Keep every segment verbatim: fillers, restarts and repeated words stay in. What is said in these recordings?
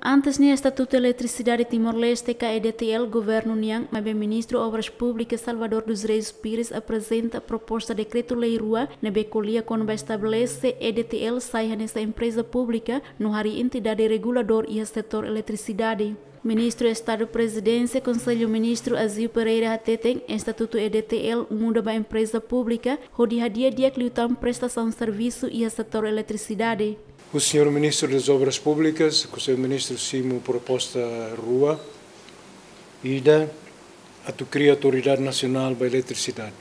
Antes ne'e, Estatutu Eletrisidade Timor-Leste, ka E D T L, governu nian, maibé Ministru Obras Públikas Salvador dos Reis Pires aprezenta proposta dekretu-lei rua ne'ebé ko'alia kona-ba estabelese E D T L sai hanesan empreza públika no harii entidade reguladór iha setór eletrisidade. Ministru Estadu Prezidénsia Konsellu Ministru Azeu Pereira hateten, Estatutu E D T L muda ba empreza públika hodi hadi'a di'ak liután prestasaun servisu iha setór eletrisidade. O senhor Ministro das Obras Públicas, Konsellu Ministru simu proposta rua, ida atu kria Autoridade Nasionál ba Eletrisidade.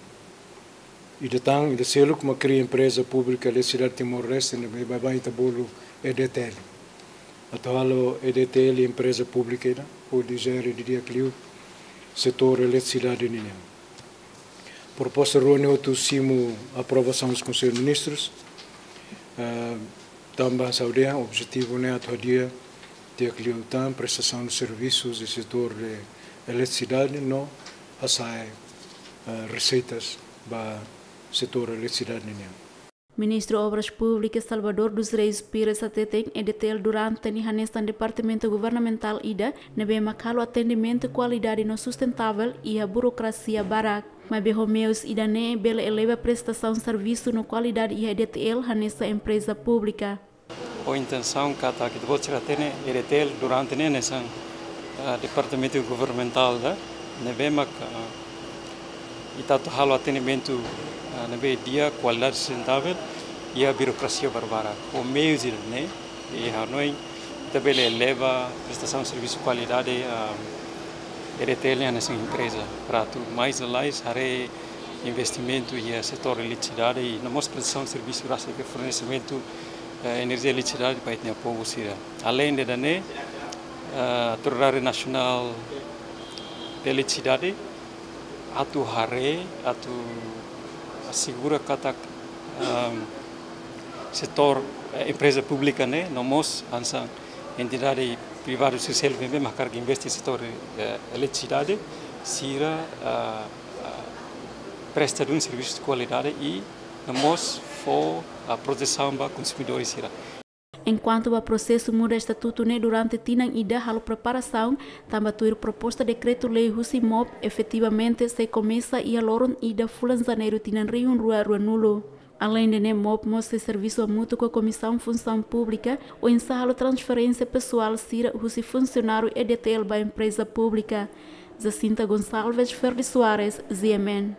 Ida tan, ida seluk mak kria empreza públika Eletrisidade Timor-Leste, ne'ebé baibain ita bolu E D T L. Atu halo E D T L empreza públika ida, hodi jere didi'ak liu setór eletrisidade nian. Proposta rua ne'e hotu simu aprovasaun husi Konsellu Ministrus. Eh, tanba saida, objetivu ne'e atu hadi'a di'ak liután prestasaun servisu iha setór de eletrisidade no hasa'e, eh, reseitas ba setór eletrisidade nian. Ministru Obras Públikas Salvador dos Reis Pires hateten, E D T L durante ne'e hanesan departamentu governamentál ida ne'ebé mak halo atendimentu kualidade no sustentável iha burokrasia barak. Maibé ho meius ida-ne'e bele eleva prestasaun servisu no kualidade iha E D T L hanesan empreza públika. Ho intensaun katak ita-boot sira hatene E D T L durante ne'e hanesan, ah, departamentu governamentál ida ne'ebé mak, ah, ita atu halo atendimentu, ah, ne'ebé di'ak, kualidade, sustentável, iha burokrasia barbarak. Ho meius ida-ne'e, ha'u hanoin ita bele eleva prestasaun servisu kualidade, ah, E D T L nian hanesan empreza. Para atu mais lalais haree investimentu iha setór eletrisidade i no mós prestasaun servisu rasik fornesimentu, eh, enerjia eletrisidade ba ita-nia povu sira. Aleinde ida-ne'e, eh, Autoridade Nasionál de Eletrisidade atu haree, atu asegura katak, ehm, setór, eh, empreza públika ne'e no mós hanesan entidade privadu sira seluk ne'ebé mak hakarak investe setór, eh, eletrisidade, sira, ah, ah, presta duni servisu kualidade i no mós fó, ah, protesaun ba konsumidór sira. Enkuantu ba prosesu muda estatutu ne'e durante tinan ida halo preparasaun, tanba tuir proposta dekretu-lei husi MOP efetivamente sei komesa iha loron ida fulan Janeiru tinan rihun rua ruanulu. Aleinde ne'e, MOP mós sei servisu hamutuk ho Komisaun Funsaun Públika oinsá halo transferénsia pesoál sira husi funsionáriu E D T L ba empreza públika. Jacinta Gonçalves, Ferdi Soares, G M N.